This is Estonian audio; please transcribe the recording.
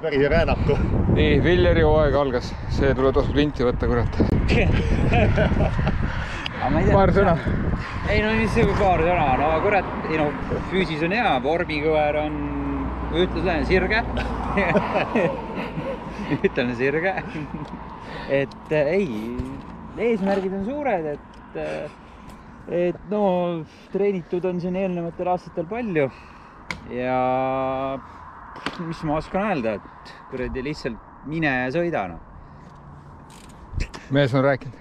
Päris räänaku. Nii, Villeri hooaeg algas. See tuleb tasub linti võtta, kurat. Paar sõna. Ei, no mis see paar sõna. No kurat, füüsis on hea, vormikõver on, ütlen sirge. Ütlen sirge. Et ei, eesmärgid on suured, et no treenitud on siin eelnevatel aastatel palju ja mis ma oskan öelda, et kuradi lihtsalt mine ja sõida. Mees on rääkinud.